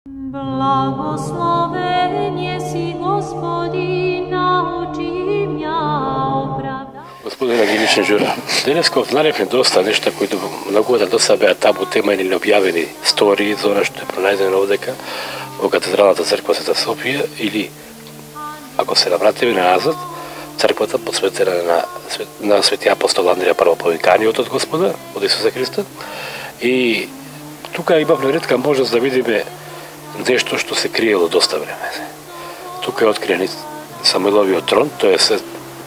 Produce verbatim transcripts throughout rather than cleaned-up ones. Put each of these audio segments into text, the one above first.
Благословен си Господи, научи мја оправда. Господина Гинична Жура, денеска ознаевме доста нешта кои многу да до сега беа табу тема или необјавени стории за она што е пронајдено овдека во Катедралната црква Света Софија, или ако се навратиме назад, црквата посветена на, на свети апостол Андрија Првоповиканиот од Господа, од Исуса Христа. И тука имавме ретка можност да видиме нешто што се криело доста време. Тука е откриен Самуиловиот трон, тоа е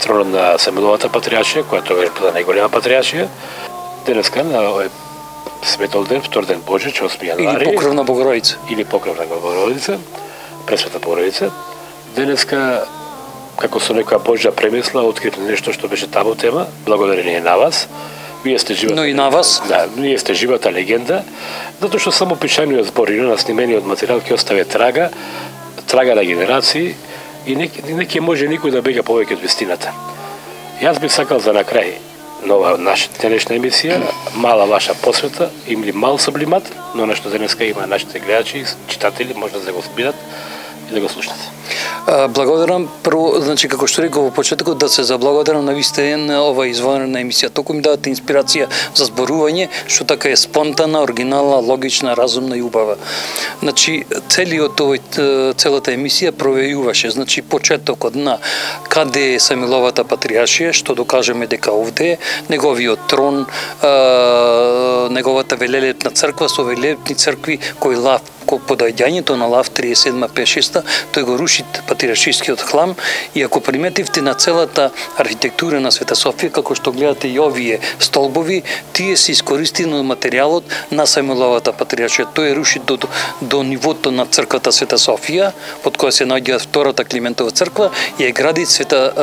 тронот на Самуиловата патриаршија, која тоа е била најголема патриаршија. Денеска на овој светол ден, втор ден Божич, осми јануари. Или покровна Богородица. Или покровна Богородица, Пресвета Богородица. Денеска, како со некоја Божја премисла, откривме нешто што беше табу тема, благодарение на вас. Вие сте живата. Но и на вас. Да, вие сте живата легенда, затоа што само пишаниот збор и на снимениот материјал ќе остави трага, трага на генерации и не, не ќе може никој да бега повеќе од вистината. Јас би сакал за на крај нова наша денешна емисија, мала ваша посвета, или мал сублимат, но нешто денеска има нашите гледачи, читатели, може да го збират и да го слушнат. Благодарам прво, значи како што реков во почетокот, да се заблагодарам на вистина на ова извонредна емисија. Толку ми давате инспирација за зборување, што така е спонтана, оригинална, логична, разумна и убава. Значи целиот овој целата емисија провејуваше, значи почетокот на каде е Самуиловата патриаршија, што докажеме дека овде е, неговиот трон, неговата велелепна црква со велелепни цркви кои лав по доаѓањето на лав триесет и седма петдесет и шеста, тој го руши патриаршискиот храм. И ако приметивте на целата архитектура на Света Софија, како што гледате и овие столбови, тие се искористени од материјалот на Самуиловата патриаршија. Тој руши до, до, до нивото на црквата Света Софија, под која се наоѓа втората Климентова црква, и е гради Света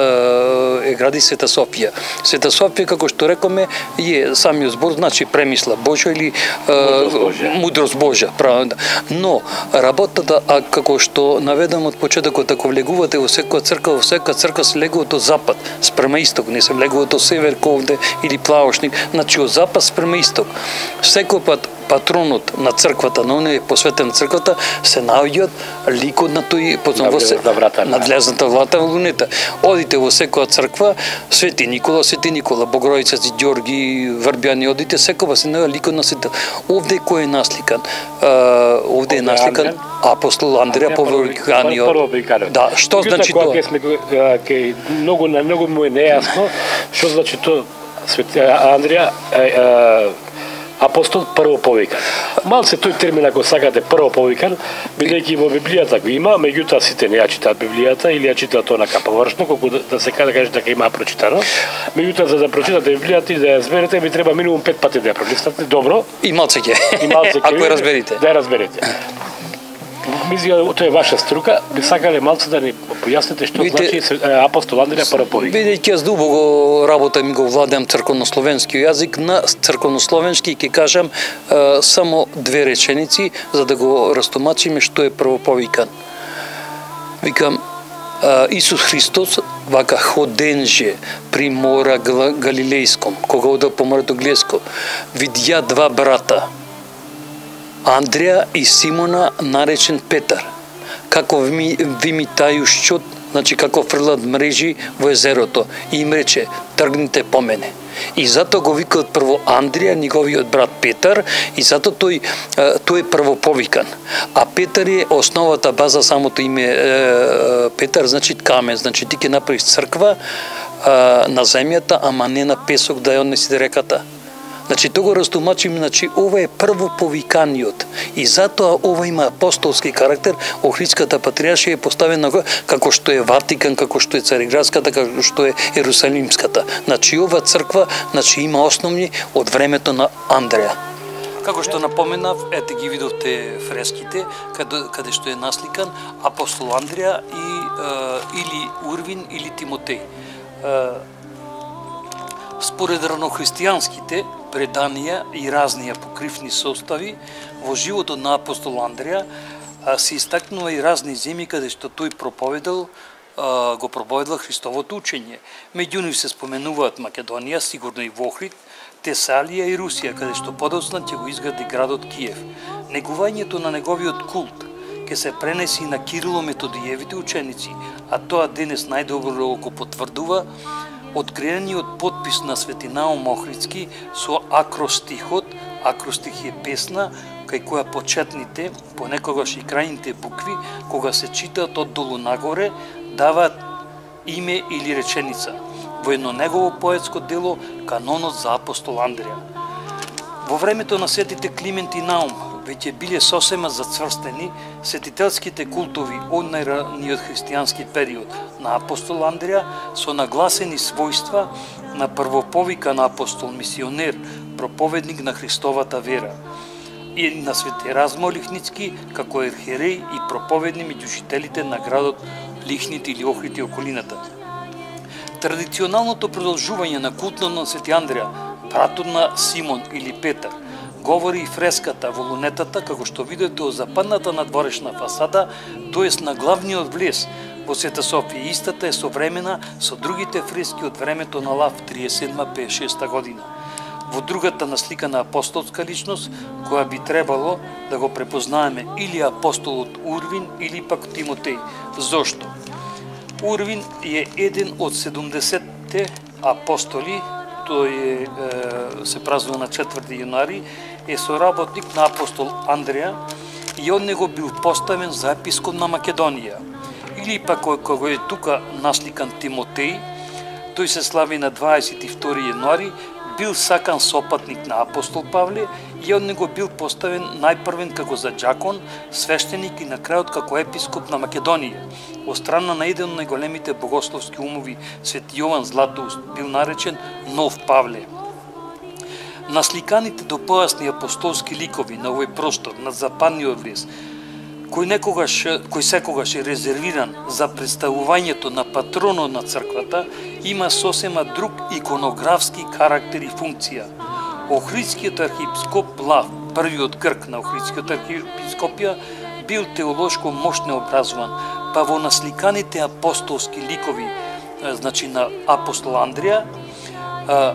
е гради Света Софија. Света Софија, како што рекоме, е самиот збор значи премисла Божја или мудрост Божја, правда. Но работата, а како што наведам од почетокот, ако влегувате во секоја црква, во секоја црква се влегува од запад спрема исток, не се влегува од север ковде или плавошник, значи од запад спрема исток. Секој пат патронот на црквата, на оној посветен црквата, се наоѓаат ликот на тој надлезната врата во лунета. Одите во секоја црква, Свети Никола, Свети Никола, Богородица, Ѓорги, Врбјани, одите, секоја се наоѓа ликот на светот. Овде кој е насликан? Овде е насликан апостол Андрија Првоповиканиот. Да, што значи тоа? Ке многу на многу му е нејасно што значи тоа Свети Андрија апостол првоповикан. Малце тој термин, ако сакате, првоповикан, бидејќи во Библијата го има, меѓутоа сите не ја читаат Библијата или ја читаат она површно, колку да, да се каже дека има прочитано. Меѓутоа за да прочитате Библијата и да ја разберете, ви треба минимум пет пати да ја пролистате добро. И малце ќе. И малце ќе. Ако ја разберете. Да ја разберете. Мислам, тоа е ваша струка, би сакале малце да ни појасните што значи апостол Андрија Првоповикан. Бидејќи јас дубоко работам и го владеам црковнословенски јазик, на црковнословенски ќе кажам е, само две реченици за да го растумачиме што е првоповикан. Викам, е, Исус Христос вака ходенже при мора Галилејском, кога ода по морето Глеско, видја два брата, Андрија и Симона, наречен Петар, како вимитају шчот, значи како фрлат мрежи во езерото, и им рече, тргнете по мене. И затоа го викаат прво Андрија, неговиот брат Петар, и затоа тој, тој е првоповикан. А Петар е основата, база, самото име Петар, значи камен, значи ти ќе направиш црква на земјата, ама не на песок да ја однеси реката. Значи, тоа го растумачим, значи, ова е првоповиканиот. И затоа ова има апостолски карактер, Охридската патриаршија е поставена како што е Ватикан, како што е Цариградската, како што е Ерусалимската. Значи, ова црква, значи, има основни од времето на Андрија. Како што напоменав, ете ги видовте фреските, каде, каде што е насликан апостол Андрија и, е, или Урвин, или Тимотеј. Е, според ранохристијанските преданија и разни апокривни состави, во животот на апостол Андрија се истакнува и разни земји каде што тој проповедал, го проповедал Христовото учење. Меѓу нив се споменуваат Македонија, сигурно и Охрид, Тесалија и Русија, каде што подоцна ќе го изгради градот Киев. Негувањето на неговиот култ ќе се пренеси на Кирило-Методиевите ученици, а тоа денес најдобро го потврдува откриениот подпис на Свети Наум Охридски со акростихот. Акростих е песна кај која почетните, понекогаш и крајните букви, кога се читаат од долу нагоре, даваат име или реченица во едно негово поетско дело Канонот за апостол Андреја. Во времето на светите Климент и Наум веќе биле сосема зацврстени светителските култови од најраниот христијански период на апостол Андреја со нагласени својства на првоповикан апостол, мисионер, проповедник на Христовата вера, и на Свети Размо Лихницки како ерхереј и проповедни меѓу жителите на градот Лихнит или Охрид и околината. Традиционалното продолжување на култот на Свети Андреја, братот на Симон или Петар, говори и фреската во лунетата, како што видите од западната надворешна фасада, тоест на главниот влез во Света Софија. Истата е современа со другите фрески од времето на Лав триесет и седма до пеесет и шеста година. Во другата насликана апостолска личност, која би требало да го препознаеме или апостолот Урвин или пак Тимотеј. Зошто? Урвин е еден од седумдесетте апостоли, тој е, е, се празнува на четврти јануари, е соработник на апостол Андреја и од него бил поставен за епископ на Македонија. Или пак кога е тука насликан Тимотеј, тој се слави на дваесет и втори јануари, бил сакан сопатник на апостол Павле и од него бил поставен најпрвен како за џакон, свештеник и на крајот како епископ на Македонија. Од страна на еден од најголемите богословски умови, Свети Јован Златоуст, бил наречен Нов Павле. Насликаните допојасни апостолски ликови на овој простор, на западниот влез, кој некогаш, кој секогаш е резервиран за представувањето на патронот на црквата, има сосема друг иконографски карактер и функција. Охридскиот архиепископ Лав, првиот грк на Охридскиот архиепископија, бил теолошко мощно образован, па во насликаните апостолски ликови, значи на апостол Андреја,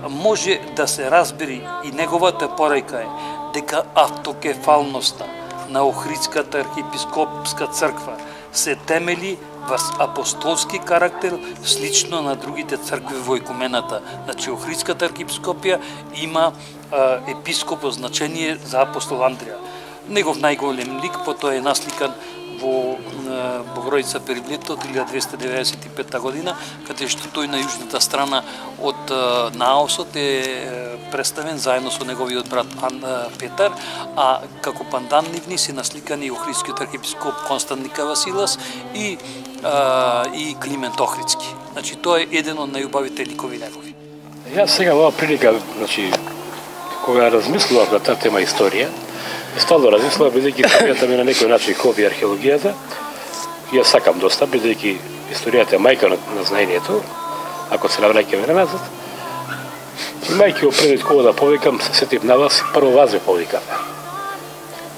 може да се разбери и неговата порајка е дека автокефалноста на Охридската архиепископска црква се темели во апостолски карактер, слично на другите цркви во екумената. Значи, Охридската архиепископија има а, епископ значение за апостол Андреја. Негов најголем лик потоа е насликан во Богородица Периблета од илјада двесте деветдесет и петта година, каде што тој на јужната страна од наосот е представен заедно со неговиот брат Петар, а како пандан нивни се насликани Охридскиот архиепископ Константин Василас и а, и Климент Охридски. Значи тоа е еден од најубавите ликови негови. Јас сега во прилика, значи кога размислував на таа тема историја, стално размислував, бидејќи историјата ми на некој начин хоби археологијата, јас сакам доста, бидејќи историјата е мајка на, на знаењето, ако се навраќаме назад. Имајќи го предвид кога да повикам, се сетив на вас, прво вас ме повикам.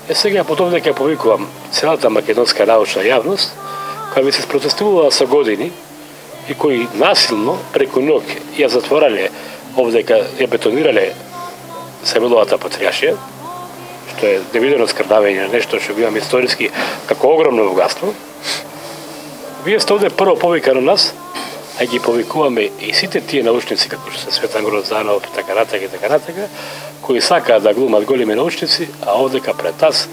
Е сега потом дека повикувам целата македонска научна јавност, која ми се спротестувала со години и кои насилно преку ноќ ја затворале овдека, ја бетонирале Самиловата патријаршија, што е невидено скрдавање, нешто што го имаме историски како огромно богатство. Вие сте овде прво повика на нас, а ги повикуваме и сите тие научници, како што се Светан Грозданов, така натака и така натака, кои сакаат да глумат големи научници, а овдека пред нас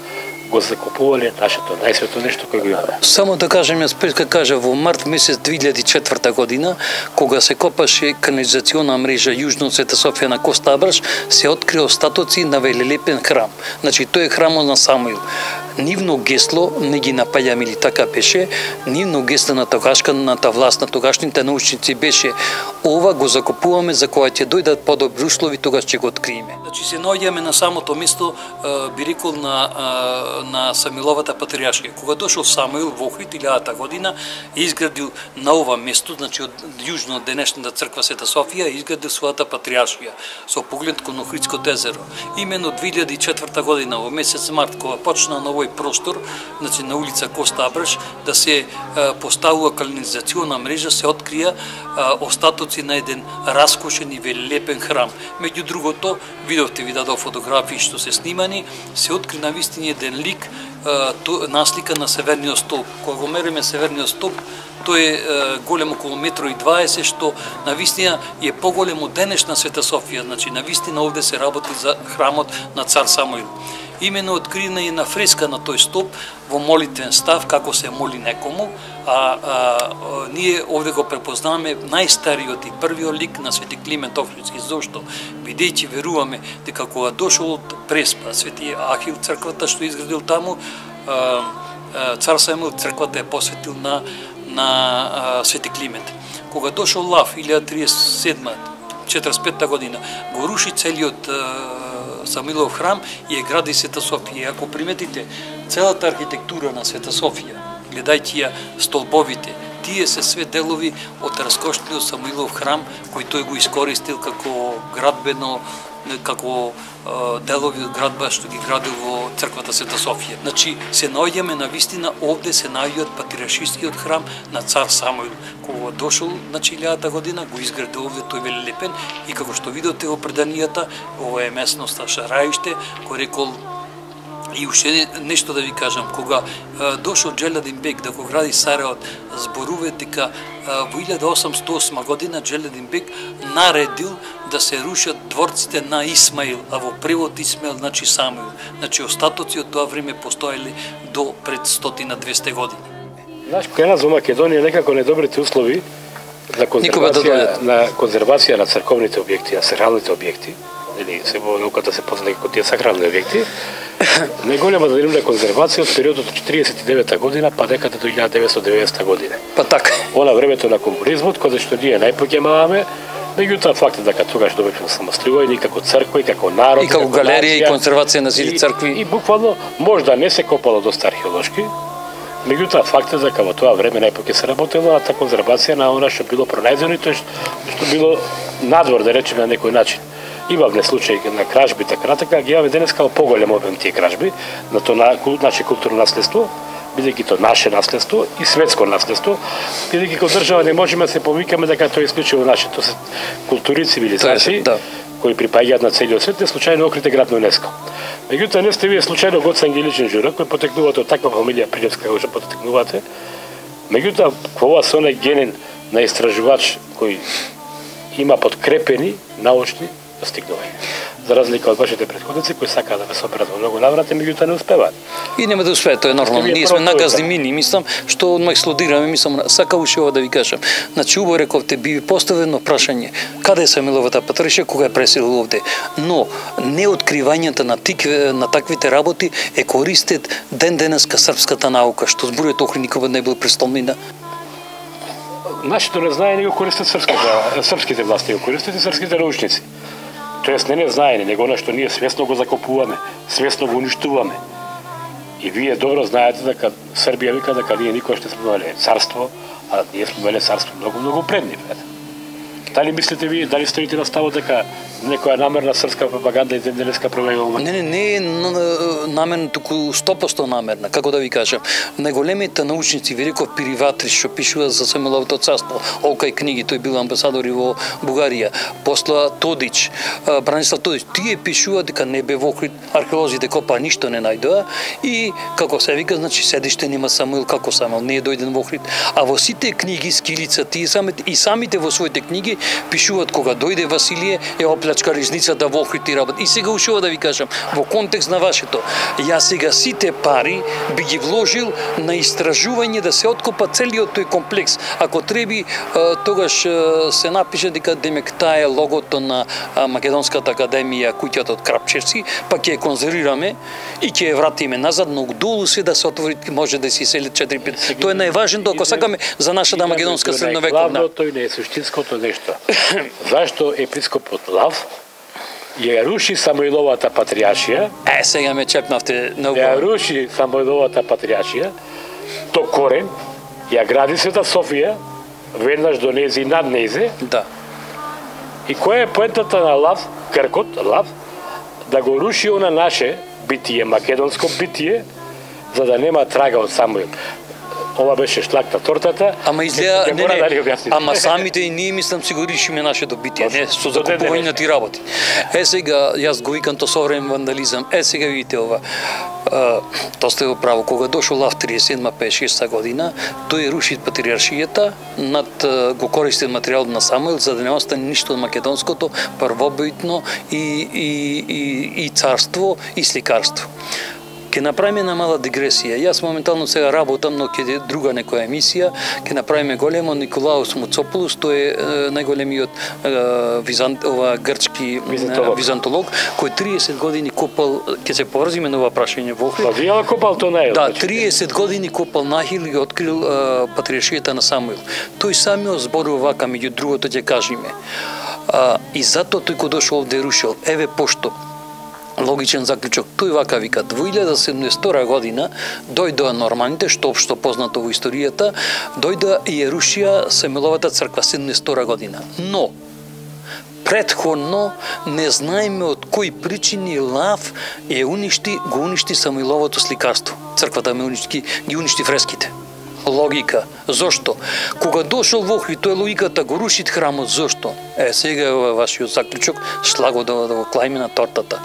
го закупувале нашето најсвето нешто кој го имаме. Само да кажем, јас пред кажа, во март месец две илјади и четврта година, кога се копаше канализациона мрежа јужно од Света Софија на Коста Абраш, се откри остатоци на велелепен храм. Значи, тој е храмот на Самуил. Нивно гесло, не ги напаѓам или така беше, нивно гесло на тогашната власт, на тогашните научници беше: ова го закупуваме за кога ќе дојдат подобри услови, тогаш ќе го откриеме. Значи, се наоѓаме на самото место, би рекол, на на Самиловата патријаршија. Кога дошол Самуил во Охрид илјадата година, е изградил на ова место, значи од јужно од денешната црква Света Софија, изградил својата патријаршија со поглед кон Охридското езеро. Имено две илјади и четврта година во месец март, кога почна на овој простор, значи на улица Коста Абраш, да се поставува канализациона мрежа, се открија остатоци конструкција на еден раскошен и велелепен храм. Меѓу другото, видовте, ви дадов фотографии што се снимани, се откри навистина еден лик, наслика на Северниот столб. Кога го мериме Северниот столб, тој е голем околу метро и дваесет, што навистина е поголем од денешна Света Софија. Значи, навистина овде се работи за храмот на цар Самуил. Имено откриена е на фреска на тој столб во молитвен став, како се моли некому, а, а, а ние овде го препознаваме најстариот и првиот лик на Свети Климент Охридски. Зошто? Бидејќи веруваме дека кога дошол од Преспа, Свети Ахил црквата што изградил таму, а, а, цар Самуил црквата е посветил на на а, Свети Климент. Кога дошол Лав илјада триесет и седма четиридесет и петта година, го руши целиот Самуилов храм и е гради Света Софија. Ако приметите целата архитектура на Света Софија, гледајќи ја столбовите, тие се све делови од раскошниот Самуилов храм кој тој го искористил како градбено, како делови од градба што ги градил во црквата Света Софија. Значи се наоѓаме на вистина овде се наоѓаат патриаршискиот храм на цар Самуил. Кога дошол на илјадата година го изградил овде тој велелепен и како што видите во преданијата, ова е местноста Шараиште, кој рекол. И уште нешто да ви кажам, кога а, дошол Джеледин Бек да го гради Сараот, зборува дека а, во илјада осамстотини и осма година Джеледин Бек наредил да се рушат дворците на Исмаил, а во превод Исмаил значи Самуил. Значи остатоци од тоа време постоеле до пред сто-двесте години. Знаеш, кај нас во Македонија некако недобрите услови на конзервација, на конзервација на црковните објекти, на сакралните објекти, или се во науката се позна како тие сакрални објекти, најголема задирна конзервација од периодот од триесет и девета година па некаде до илјада деветстотини и деветдесета година. Па така. Она времето на комунизмот, кога што ние најпоќемаваме, меѓутоа фактот дека тогаш добивме самостојни како црква и како народ, и како галерија и конзервација на сили цркви. И, и буквално можда не се копало доста археолошки, меѓутоа фактот дека во тоа време најпоќе се работело на таа конзервација на она што било пронајдено и тоа што било надвор, да речеме, на некој начин. Имавме случаи на кражби, така натака, ги имаме денеска во поголем обем тие кражби на тоа на, наше културно наследство, бидејќи тоа наше наследство и светско наследство, бидејќи како држава не можеме да се повикаме дека тоа е исклучиво наше, тоа се култури и цивилизации, да, кои припаѓаат на целиот свет, не случајно Охрид е град на ЮНЕСКО. Меѓутоа не сте вие случајно Гоце Ангеличен Џура, кој потекнувате од таква фамилија пријатска како што потекнувате. Меѓутоа, ова се онај генен на истражувач кој има подкрепени научни достигнувања. За разлика од вашите претходници кои сакаат да ве соберат во многу наврати, меѓутоа не успеваат. И нема да успеат, тоа е нормално. Ние сме наказни мини, мислам, што одма експлодираме, мислам, сака уште ова да ви кажам. Значи, убаво рековте, би ви поставено прашање, каде е Самуиловата патриаршија, кога е преселил овде. Но, неоткривањата на, тик, на таквите работи е користет ден денеска српската наука, што зборот Охрид никога не бил престолнина. Нашето не знае, не го користат српските, српските власти, го користат и српските научници. Тоест не не знаење, него она што ние свесно го закопуваме, свесно го уништуваме. И вие добро знаете дека Србија вика дека ние никош не сме имале царство, а ние сме имале царство многу, многу пред нив. Дали мислите вие, дали стоите на ставот дека некоја намерна српска пропаганда и денеска провеува? Не, не, не е намерна, туку сто проценти намерна, како да ви кажам. Најголемите научници, ви реков Пириватри, што пишува за Самуиловото царство, Олкај книги, тој бил амбасадор и во Бугарија, после Тодич, Бранислав Тодич, тие пишуваат дека не бе во Охрид, археолозите копаа ништо не најдоа и како се вика, значи седиште нема Самуил, како Самуил не е дојден во Охрид, а во сите книги скилица тие самите и самите во своите книги пишуваат кога дојде Василие е оплачка ризницата во Охрид и работ. И сега ушува да ви кажам, во контекст на вашето, јас сега сите пари би ги вложил на истражување да се откопа целиот тој комплекс. Ако треби, тогаш се напише дека демек таа е логото на Македонската академија, куќата од Крапчевци, па ќе ја конзервираме и ќе ја вратиме назад, но долу се да се отвори, може да се селят четири пет. Тоа е најважното ако сакаме за нашата македонска средновековна. Тој не е суштинското нешто. Зашто епископот Лав ја руши Самуиловата патриаршија? Е, сега ме чепнавте многу. Ја руши Самуиловата патриаршија, до корен, ја гради Света Софија, веднаш до незе и над незе. Да. И која е поентата на Лав, Гркот, Лав, да го руши она наше битие, македонско битие, за да нема трага од Самуил. ова беше шлак на тортата. Ама изгледа, не, не, да ама самите и ние мислам си го решиме наше добитие, не, со закупување ти работи. Е сега, јас го викам то современ вандализам, е сега видите ова, а, то сте го право, кога дошол Лав триесет и седма петдесет и шеста година, тој руши патриаршијата, над го користи материјал на Самуил, за да не остане ништо од македонското, првобитно и, и, и, и царство, и сликарство. Ке направиме една мала дигресија. Јас моментално сега работам, но ке друга некоја емисија, ке направиме големо Николаус Муцополус, тој е најголемиот визант, ова грчки византолог. византолог, кој триесет години копал, ке се поврзиме на ова прашање во Охрид. Па вие копал тоа нај. Да, триесет години копал нахил и го открил патриаршијата на Самуил. Тој самиот зборува вака, меѓу другото ќе кажеме. А, и затоа тој кој дошол овде рушил, еве пошто логичен заклучок, тој вака вика, во илјада седумдесета година дојдоа норманите, што општо познато во историјата, дојдоа и ја рушија Самуиловата црква седумдесета година. Но претходно не знаеме од кои причини Лав е уништи, го уништи Самуиловото сликарство. Црквата ме уништи, ги уништи фреските. Логика. Зошто? Кога дошол во Охрид, тој логиката го рушит храмот. Зошто? Е, сега е вашиот заклучок, шлаго да, да го клајме на тортата.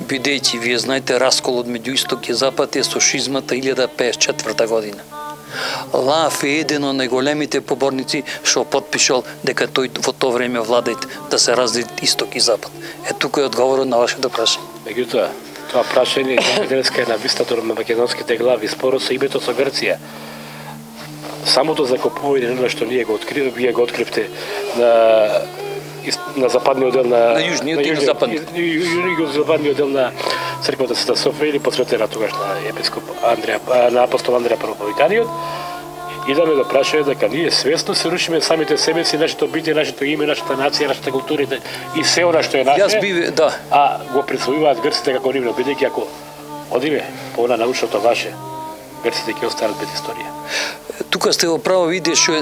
Бидејќи, вие знаете, расколот меѓу Исток и Запад е со шизмата илјада петдесет и четврта година. Лав е еден од најголемите поборници што потпишал дека тој во тоа време владеет да се разделит Исток и Запад. Е, тука е одговорот на вашето прашање. Меѓутоа, тоа прашање денеска е на вистата на македонските глави, споро со името со Грција. Самото закопување на што ние го откривме, вие го откривте на на западниот дел на на јужниот и на западниот. Југо-западниот дел на црквата Света Софија или посветена тогаш на епископ Андреја, на апостол Андреја Првоповиканиот. Идаме да прашање дека ние свесно се рушиме самите себе си, нашето битие, нашето име, нашата нација, нашата култура и се она што е наше. Јас биве, да. А го присвојуваат грците како нивно, бидејќи ако одиме по она научното ваше, грците ќе останат без историја. Тука сте во право виде што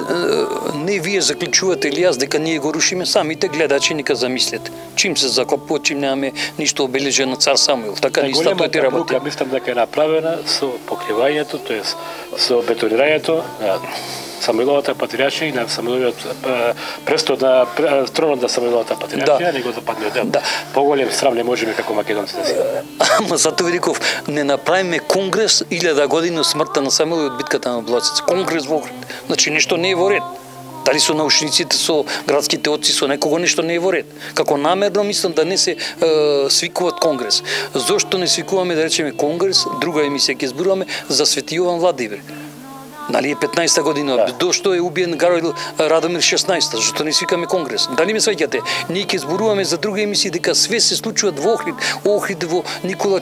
не вие заклучувате или јас дека ние го рушиме, самите гледачи нека замислете. Чим се закопува, чим немаме ништо обележено цар Самуил. Така не исто тој ти работи. Големата мислам дека е направена со покривањето, тоест со бетонирањето на Самуиловата патриаршија и на Самуиловиот престол на тронот на Самуиловата патриаршија, да. Него западниот дел. Да. Поголем срам не можеме како македонци да си. Ама затоа ви реков, не направиме конгрес илјада години од смртта на Самуил и од битката на Блоцец. Конгрес во Охрид. Значи ништо не е во ред. Дали со научниците, со градските отци, со некого нешто не е во ред. Како намерно мислам да не се е, свикуваат конгрес. Зошто не свикуваме да речеме конгрес, друга емисија ќе зборуваме за Свети Јован Владимир. Нали е петнаесета година, да. Дошто е убиен Гарој Радомир шеснаесета, зашто не свикаме конгрес. Дали ме сваќате? Ние ќе зборуваме за друга емисија дека све се случуваат во Охрид, Охрид во Никола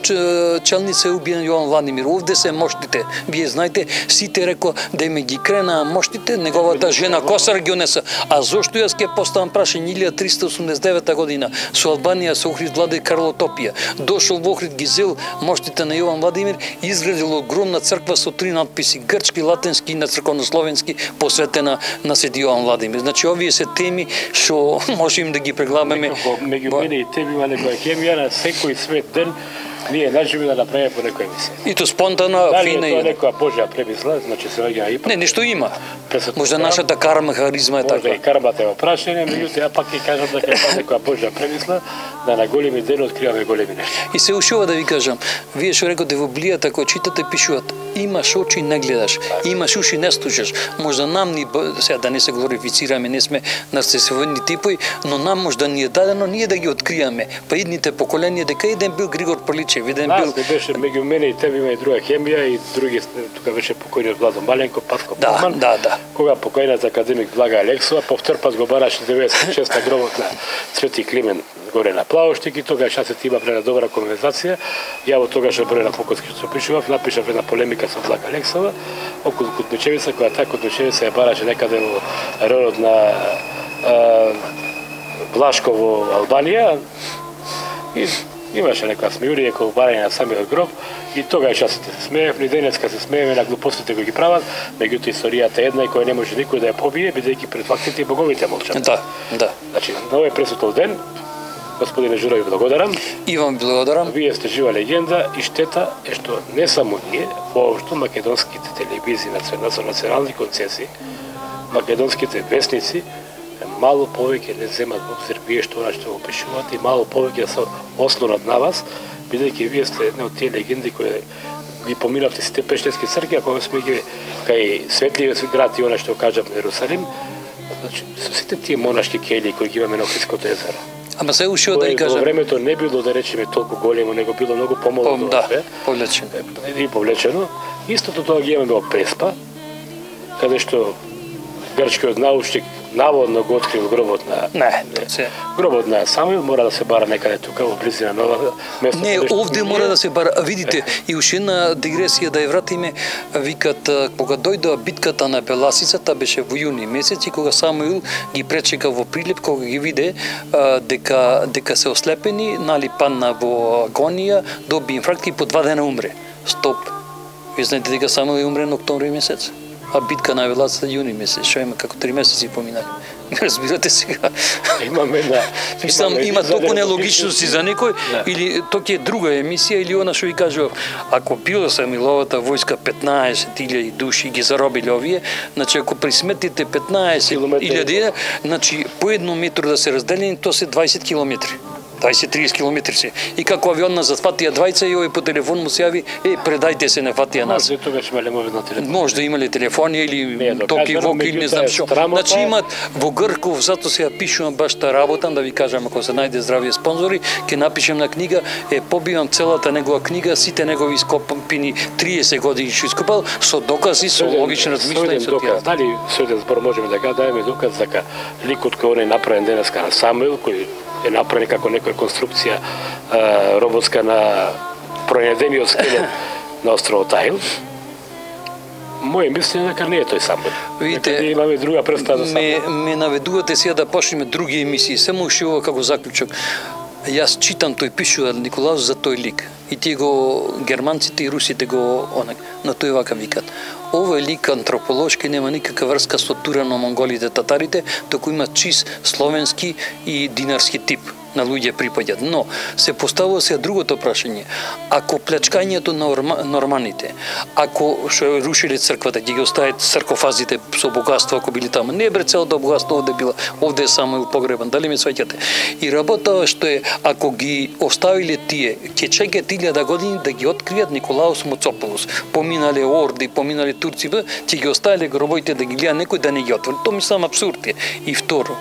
Челница е убиен Јован Владимир. Овде се моштите. Вие знаете, сите реко да ме ги крена моштите, неговата жена Косар ги унеса. А зошто јас ќе поставам прашање илјада триста осумдесет и девета година со Албанија, со Охрид владе Карлотопија. Дошол во Охрид, ги зел моштите на Јован Владимир и изградил огромна црква со три надписи: грчки, латински и на црковнословенски, посветена на Свети Јован Владимир. Значи овие се теми што можеме да ги преглабаме. Меѓу мене и тебе има некоја хемија на секој свет ден. Ние најжиме да направиме по некоја емисија. И то спонтана, дали фина е и тоа некоја Божја премисла, значи се ваѓа и не, нешто има. Можда нашата карма, харизма е така. Можда и кармата е опрашање, меѓутоа ја пак ќе кажам дека е некоја Божја премисла, да на големи ден откриваме големи нешта. И се ушува да ви кажам, вие што рекоте во Библијата, кога читате, пишуваат: имаш очи, не гледаш, имаш уши, не слушаш. Можда нам ни, сега да не се глорифицираме, не сме нарцисовидни типови, но нам можда ни е дадено ние да ги откриеме. Па идните поколенија дека еден бил Григор Прличев, еден бил беше меѓу мене и тебе има и друга хемија и други, тука беше покојниот Владо Маленко, Патко да, Палман. Да, да. Кога покојниот академик Блага Алексова повтор пат го бараше деветдесет и шеста гробот на Свети Климен горе на Плавоштик и тогаш јас се има прена добра конверзација. Ја во тогаш број на Покотски што пишував, напишав една полемика со Блага Алексова околу Кутничевица, која таа Кутничевица ја бараше некаде во районот на а, Блашко во Албанија и имаше некоја смејурија кога барање на самиот гроб и тогаш јас се смеев, ни денеска се смееме на глупостите кои ги прават, меѓутоа историјата е една и која не може никој да ја побие, бидејќи пред фактите и боговите молчат. Да, да. Значи, на овој пресветлов ден Господине Журо, ви благодарам. И вам благодарам. Вие сте жива легенда и штета е што не само ние, воопшто македонските телевизии со национални концесии, македонските вестници мало повеќе не земат во обзир вие што што го пишувате и мало повеќе да се ослонат на вас, бидејќи вие сте една од тие легенди кои ги поминавте сите пештерски цркви, а кога сме ги кај светливиот град и она што кажам Ерусалим, значи со сите тие монашки кели кои ги имаме на Охридското езеро. Ама се ушио да и кажам. Во времето не било да речеме толку големо, него било многу помало Пом, да, повлечено. И повлечено. Истото тоа ги имаме во Преспа, каде што грчкиот научник наводно го открил гробот на Не, се. Гробот на Самуил мора да се бара некаде тука во близина нова место. Не, овде мора да се бара. Видите, и уште една дигресија да ја вратиме, викат кога дојдоа битката на Беласицата беше во јуни месец и кога Самуил ги пречека во Прилеп, кога ги виде дека дека се ослепени, нали падна во агонија, доби инфаркт и по два дена умре. Стоп. Ви знаете дека Самуил умре на октомври месец? А битка на Беласицата јуни месец, што има како три месеци поминали. Разбирате сега. Имаме да. Мислам, има толку нелогичности за некој, или тоа е друга емисија, или она што ви кажував, ако било Самуиловата војска петнаесет илјади души ги заробиле овие, значи ако присметите петнаесет илјади, значи по едно метро да се разделени, тоа се дваесет километри. дваесет до триесет километри се. И како авионна зафатија двајца и овој по телефон му се јави, е, предајте се, не фатија нас. Може тогаш имале мобилна телефон. Може да имале телефони или токи вок или не знам што. Значи имат во Грков, затоа се ја пишувам баш та работам, да ви кажам, ако се најде здравие спонзори, ќе напишем на книга, е побивам целата негова книга, сите негови ископани триесет години што ископал, со докази, со логични размислувања со тие. Дали сојден збор можеме да го даеме доказ дека ликот кој он е направен денеска на Самуил, кој е направен како некоја конструкција а, роботска на пронајдениот скелет на островот Аил. Моје мислење дека не е тој Самуил. Видите, имаме друга представа за Самуил. Ме, ме наведувате сега да почнеме други емисии, само уште ова како заклучок. Јас читам, тој пишува Николаус за тој лик. И тие го германците и русите го онак, на тој вака викат. Овој лик антрополошки нема никаква врска со турано-монголите татарите, току има чист словенски и динарски тип на луѓе припаѓаат. Но се поставува се другото прашање. Ако плячкањето на норманите, ако што рушиле црквата, ги ги остават саркофазите со богатство, ако били таму, не бре целото богатство овде била, овде е само погребан, дали ме сваќате? И работава што е, ако ги оставиле тие, ќе чекаат илјада години да ги откријат Николаус Моцополус. Поминале орди, поминале турци, ќе ги оставиле гробовите да ги гледа некој да не ги отвори. Тоа мислам абсурд е. И второ,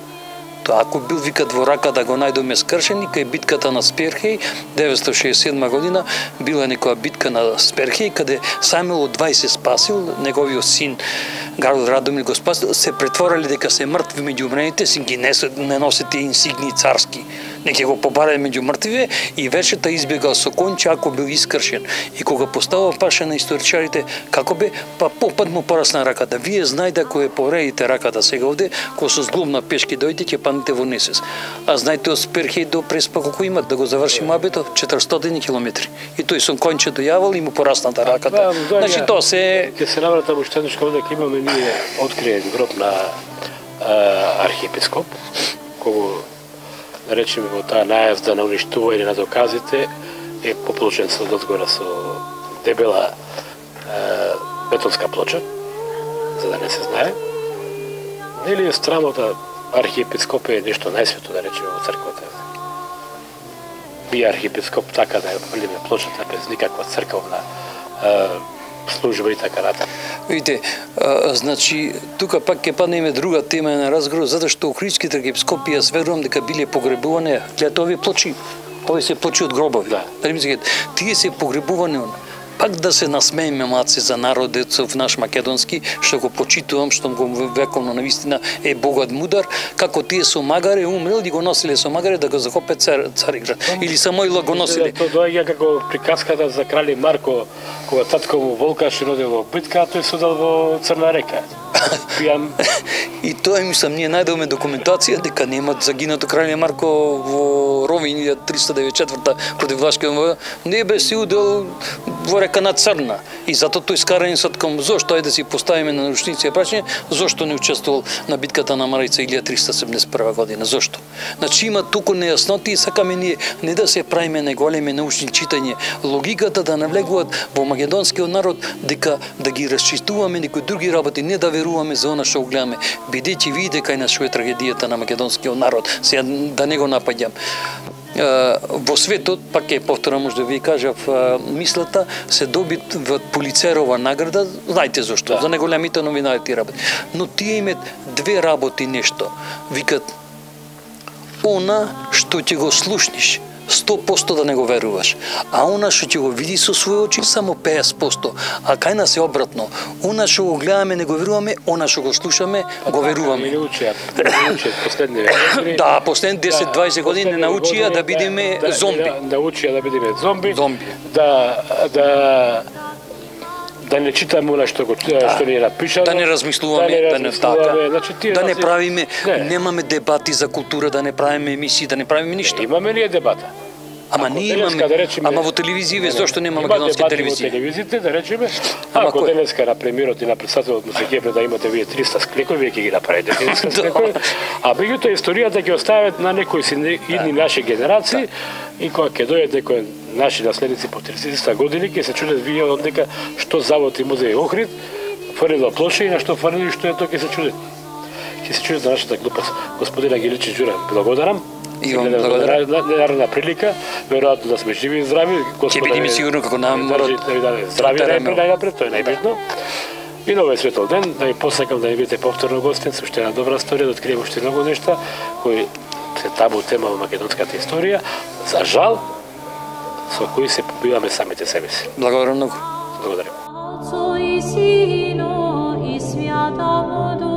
ако бил викат во рака да го најдоме скршен, кај битката на Сперхеј, деветстотини шеесет и седма година, била некоја битка на Сперхеј, каде Самуил од дваесет спасил, неговиот син Гарол Радомир го спасил, се претворили дека се мртви меѓу умрените, си ги не, не носите инсигни царски. Неќе го побарали меѓу мртвиве и вечерта избегал со конче ако бил искршен. И кога поставува паша на историчарите, како бе, па попад му порасна раката. Вие знаете ако е повредите раката сега овде, кога со зглумна пешки дојде, ќе паднете во несес. А знаете од Сперхеј до Преспа колку имат, да го заврши мабето, четиристотини километри. И тој со конче дојавал и му порасната раката. Да, значи тоа се... Ќе се навратам уште еднаш кога дека имаме ние откриен гроб на а, архиепископ, кога да речеме во таа најазда на уништување на доказите е поплочен со одзгора со дебела е, бетонска плоча, за да не се знае. Нели страмата архиепископ е нешто најсвето, да речеме, во црквата. Би архиепископ така да ја фрлиме плочата без никаква црковна е, служба и така натаму. Видите, а, значи, тука пак ќе паднеме друга тема на разговор, затоа што охридските архиепископи, јас верувам дека биле погребувани, гледате овие плочи, овие се плочи од гробови. Да. Дали мислите, тие се погребувани, пак да се насмееме маци за народецов наш македонски, што го почитувам, што го вековно навистина е богат мудар, како тие со магаре умрел и го носиле со магаре да го захопе цар, Цариград. Или Самоила го носиле. Тоа доаѓа како приказката за крале Марко, кога татко му Волкаш одел во битка, тој се одел во Црна река. Пијан. И тоа мислам, ние најдовме документација дека немат загинато крале Марко во Ровин триста деветдесет и четврта против Влашкиот војна. Не бе си удел во река на Црна. И затоа тој скараницот кон зошто е да си поставиме на научници прашање, зошто не учествувал на битката на Марица илјада триста седумдесет и прва година, зошто? Значи има туку нејасноти и сакаме ние не да се правиме неголеми научни читања, логиката да навлегуваат во македонскиот народ дека да ги расчистуваме некои други работи, не да веруваме за она што гледаме, бидејќи видите кај нас што е трагедијата на македонскиот народ. Сега да не го напаѓам. Во светот, пак е повторам, може да ви кажав мислата, се добиват Пулицерова награда, знаете зашто, да. За неголемите новинарски работи. Но тие имат две работи нешто. Викат, она што ќе го слушниш, сто посто да не го веруваш. А она што ќе го види со своји очи, само петдесет посто. А кај нас е обратно. Она што го гледаме, не го веруваме, она што го слушаме, го веруваме. Не научија, не научија последни години. Да, последни десет-двајсет години не научија да бидеме зомби. Научија да бидеме зомби. Зомби. Да, да да не читаме она што го да. Што ни е напишано, да не размислуваме, да не, да не така, значи, да не правиме, не. Немаме дебати за култура, да не правиме емисии, да не правиме ништо. Имаме ли дебата? Ама ние имаме, да речеме, ама во телевизија, зашто нема македонски телевизија? Има телевизиите, да речеме, ако денеска на премиерот и на председателот му се гебне да имате вие триста склекови, вие ќе ги направите триста склекови, а меѓутоа историјата ќе остават на некои идни наши генерации и кога ќе дојдат некои наши наследници по триста години, ќе се чудат вие од дека што завод и музеј Охрид фрлила плоша и на што фрлили, што е тоа, ќе се чудат. Ќе се чудат за нашата глупост. Господин Ангеличи Ѓура, благодарам. И вам благодарам. Наредна прилика, веројатно да сме живи и здрави. Ќе бидеме сигурно како нам морат да ви даде здрави најнапред, тоа е најбитно. И на овој светол ден, да ви посакам да ви бидете повторно гостин со уште една добра историја, да откриеме уште многу нешта кои се табу тема во македонската историја. За жал, со кои се побиваме самите себе си. Благодарам многу. Благодарам. Отцу и Сину и Святому Духу.